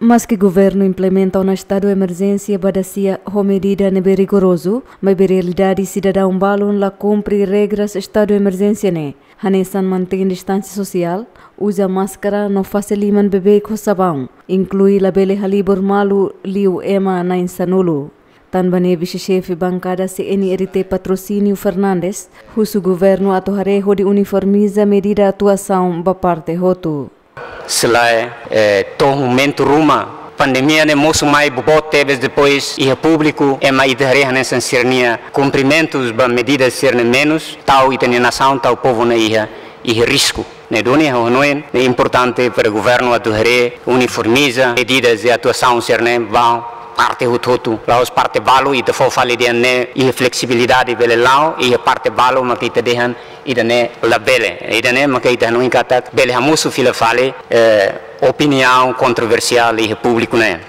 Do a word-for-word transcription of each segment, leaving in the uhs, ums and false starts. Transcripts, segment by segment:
Maske governu implementa ona estadu emerjénsia ba dasia ho medida ne'ebé rigorozu, maibé realidade sidadaun balun la kumpre regras estadu emerjénsia ne'e. Hanesan mantein distánsia sosiál, uza máskara no fase liman beibeik ho sabaun, inklui labele halibur malu liu ema na'in sanulu. Tanba ne'e vise-xefe bankada C N R T Patrocínio Fernandes husu governu atu haree hodi uniformiza medida atuasaun ba parte hotu. Se lae, eh, to'o momentu ruma pandemia ne'e mosu mai boboot tebes, depois iha públiku ema ita haree hanesan sira-nia kumprimentus ba medida sira-ne'e menus, tau ita-nia nasaun, tau povu ne'e iha, iha risku. Ne'e duni ha'u hanoin ne'e importante para governu atu haree, uniformiza medidas de atuasaun sira-ne'e ba parte hotu-hotu. La'ós parte balu ita fó fali dehan ne'e iha fleksibilidade bele la'o, iha parte balu maka ita dehan ida-ne'e labele. Ida-ne'e maka ita hanoin katak bele hamosu fila fali, eh, opiniaun kontroversiál iha públiku ne'e.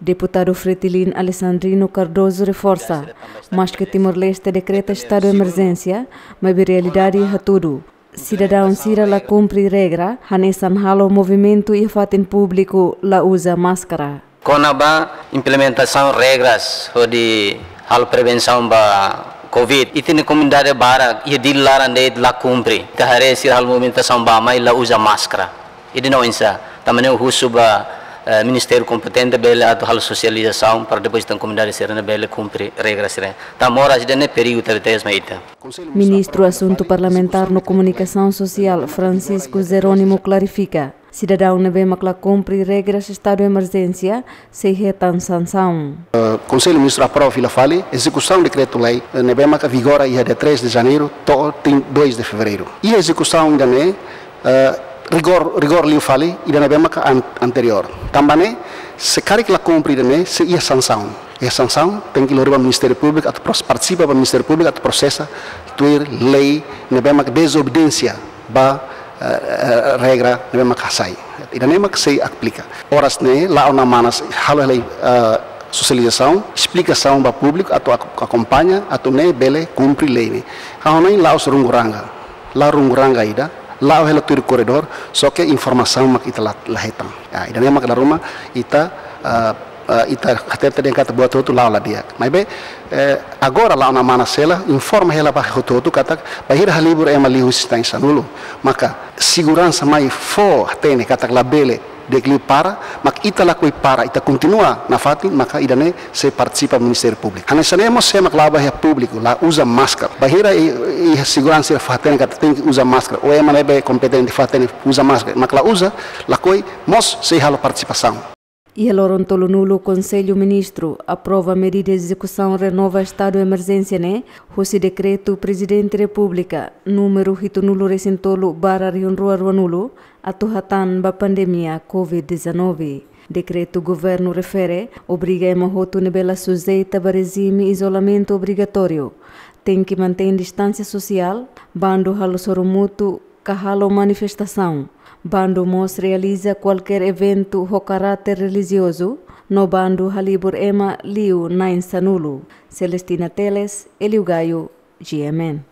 Deputadu Fretilin Alessandrino Cardoso reforsa, maske Timor-Leste dekreta estadu emerjénsia, maibé realidade hatudu sidadaun sira la kumpre regra, hanesan halo movimentu iha fatin públiku la uza máskara. Kona-ba implementasaun regras hodi halo prevensaun ba covid, ita-nia komunidade barak iha Dili laran de'it la kumpre. Ita haree sira halo movimentasaun bá-mai la uza máskara. Ida-ne'e oinsá? Tanba ne'e husu ba, eh, ministériu kompetente bele atu halo sosializasaun para depois ita-nia komunidade sira-ne'e bele kumpre regra sira-ne'e. Tanba moras ida-ne'e perigu tebes mai ita. Ministru Asuntu Parlamentár no Komunikasaun Sosiál Francisco Jerónimo klarifika, sidadaun ne'ebé mak la kumpre regras estadu emerjénsia sei hetan sansaun. Eh, Konsellu Ministru aprova fila fali ezekusaun dekretu-lei, eh, ne'ebé maka vigora iha dia três de janeiro to'o trin-, dois de fevereiro. Iha ezekusaun ida-ne'e, eh, rigór, rigór liu fali ida ne'ebé maka an-, anteriór. Tanba ne'e, se karik la kumpre ida-ne'e, sei iha sansaun. Iha sansaun, tenke lori ba Ministériu Públiku atu pros-, partisipa ba Ministériu Públiku atu prosesa tuir lei ne'ebé maka dezobediénsia ba, eh, eh, regra ne'ebé maka hasai. Ida-ne'e maka sei aplika. Oras ne'e, la'o ona manas halo hela, eh, sosializasaun, esplikasaun ba públiku atu ak-, akompaña, atu nune'e bele kumpre lei ne'e. Ha'u hanoin la'ós runguranga. La runguranga ida, la'o hela tuir korredór, só ke informasaun mak ita la, la hetan. Ya, ida-ne'e mak dala ruma ita, eh, eh, ita hatete dehan katak buat hotu la'o la di'ak. Maibé, eh, agora la'o ona manas hela, informa hela ba hotu-hotu katak, bainhira halibur ema liu husi na'in sanulu. Maka seguransa mai fó hatene katak labele di'ak liu para, mak ita lakohi para, ita kontinua nafatin, maka ida-ne'e sei partisipa Ministériu Públiku. Hanesan ne'e mós sé mak la'o ba iha públiku, la uza máskara. Bainhira i, i seguransa sira fó hatene katak tenke uza máskara, ou ema ne'ebé kompetente fó hatene uza máskara, mak la uza, lakohi mós sei halo partisipasaun. Iha loron tolunulu Konsellu Ministru aprova medida ezekusaun renova estadu emerjénsia ne'e, husi dekretu Prezidente Repúblika númeru hitunulu-resin-tolu barra rihun rua ruanulu, atu hatán ba pandemia covid dezanove. Dekretu governu refere, obriga ema hotu ne'ebé la sujeita ba rejime izolamentu obrigatóriu, tenke mantein distánsia sosiál, bandu halo sorumutu ka halo manifestasaun, bandu mós realiza kualkér eventu ho karáter relijiozu, no bandu halibur ema liu na'in sanulu. Celestina Teles, Elio Gaio, G M N.